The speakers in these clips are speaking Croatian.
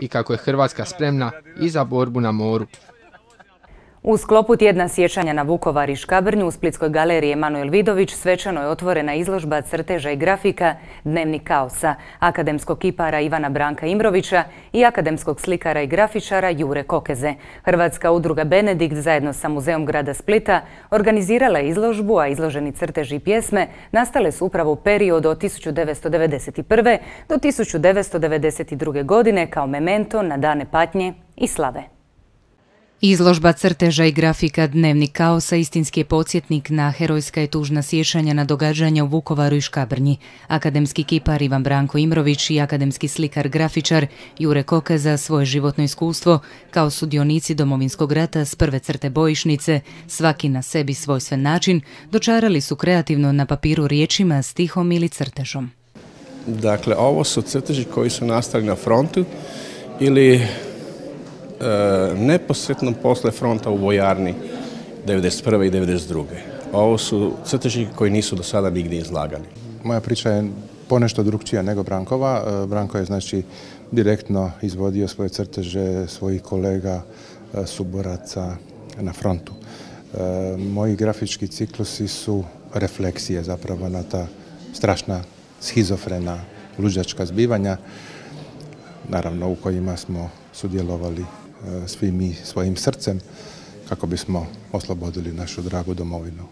i kako je Hrvatska spremna i za borbu na moru. U sklopu tjedna sjećanja na Vukovar i Škabrnju u Splitskoj galeriji Emanuel Vidović svečano je otvorena izložba crteža i grafika Dnevnik kaosa akademskog kipara Ivana Branka Imrovića i akademskog slikara i grafičara Jure Kokeze. Hrvatska udruga Benedikt zajedno sa Muzeom grada Splita organizirala je izložbu, a izloženi crteži i pjesme nastale su upravo u periodu od 1991. do 1992. godine kao memento na dane patnje i slave. Izložba crteža i grafika Dnevnik kaosa istinski je podsjetnik na herojska i tužna sjećanja na događanja u Vukovaru i Škabrnji. Akademski kipar Ivan Branko Imrović i akademski slikar grafičar Jure Kokeza svoje životno iskustvo kao sudionici Domovinskog rata s prve crte bojišnice, svaki na sebi svojstven način, dočarali su kreativno na papiru riječima, stihom ili crtežom. Dakle, ovo su crteži koji su nastali na frontu ili neposredno posle fronta u vojarni 1991. i 1992. Ovo su crteži koji nisu do sada nigdje izlagani. Moja priča je ponešto drukčija nego Brankova. Branko je znači direktno izvodio svoje crteže svojih kolega, suboraca na frontu. Moji grafički ciklusi su refleksije zapravo na ta strašna, schizofrena, luđačka zbivanja, naravno u kojima smo sudjelovali svi mi svojim srcem kako bismo oslobodili našu dragu domovinu.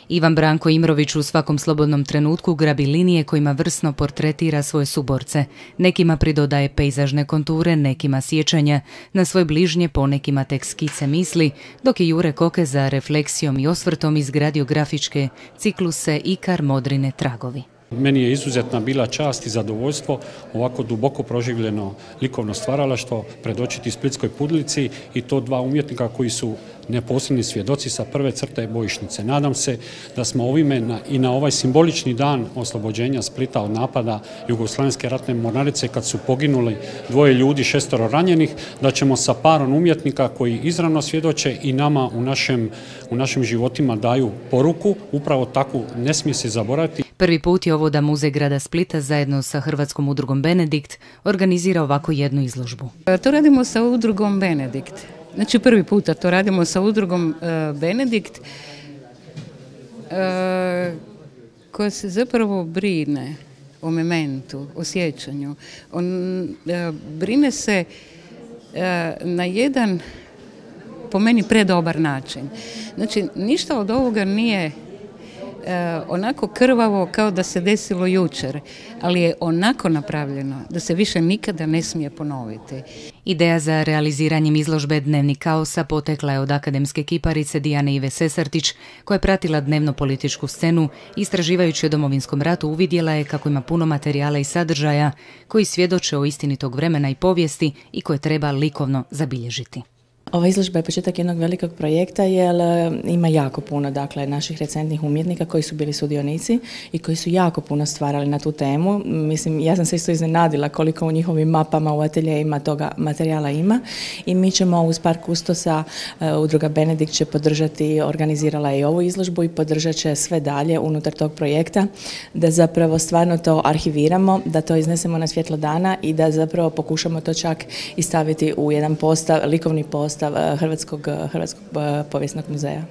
Ivan Branko Imrović u svakom slobodnom trenutku grabi linije kojima vrsno portretira svoje suborce. Nekima pridodaje pejzažne konture, nekima sjećanja, na svoje bližnje ponekima tek skice misli, dok je Jure Kokeza refleksijom i osvrtom izgradio grafičke cikluse Ikar, Modrine, Tragovi. Meni je izuzetna bila čast i zadovoljstvo ovako duboko proživljeno likovno stvaralaštvo predočiti Splitskoj publici i to dva umjetnika koji su neposredni svjedoci sa prve crte bojišnice. Nadam se da smo ovime i na ovaj simbolični dan oslobođenja Splita od napada Jugoslavenske ratne mornarice kad su poginuli 2 ljudi, 6 ranjenih, da ćemo sa parom umjetnika koji izravno svjedoče i nama u našim životima daju poruku, upravo takvu ne smije se zaboraviti. Prvi put je ovo da Muzej grada Splita zajedno sa Hrvatskom udrugom Benedikt organizira ovako jednu izložbu. To radimo sa udrugom Benedikt. Znači prvi puta to radimo sa udrugom Benedikt koja se zapravo brine o mementu, o sjećanju. Brine se na jedan, po meni, predobar način. Znači ništa od ovoga nije onako krvavo kao da se desilo jučer, ali je onako napravljeno da se više nikada ne smije ponoviti. Ideja za realiziranjem izložbe Dnevnik kaosa potekla je od akademske kiparice Dijane Ive Sesartić, koja je pratila dnevno političku scenu, istraživajući o Domovinskom ratu uvidjela je kako ima puno materijala i sadržaja koji svjedoče o istini tog vremena i povijesti i koje treba likovno zabilježiti. Ova izložba je početak jednog velikog projekta jer ima jako puno naših recentnih umjetnika koji su bili sudionici i koji su jako puno stvarali na tu temu. Mislim, ja sam se isto iznenadila koliko u njihovim mapama u ateljejima toga materijala ima i mi ćemo uz par kustosa, udruga Benedikt će podržati, organizirala je i ovu izložbu i podržat će sve dalje unutar tog projekta, da zapravo stvarno to arhiviramo, da to iznesemo na svjetlo dana i da zapravo pokušamo to čak i staviti u jedan likovni postav Hrvatskog povijesnog muzeja.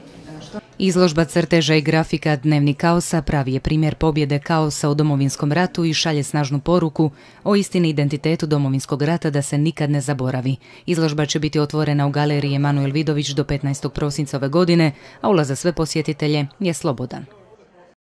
Izložba crteža i grafika Dnevnik kaosa pravi je primjer pobjede kaosa u Domovinskom ratu i šalje snažnu poruku o istini i identitetu Domovinskog rata da se nikad ne zaboravi. Izložba će biti otvorena u galeriji Emanuel Vidović do 15. prosinca ove godine, a ulaz za sve posjetitelje je slobodan.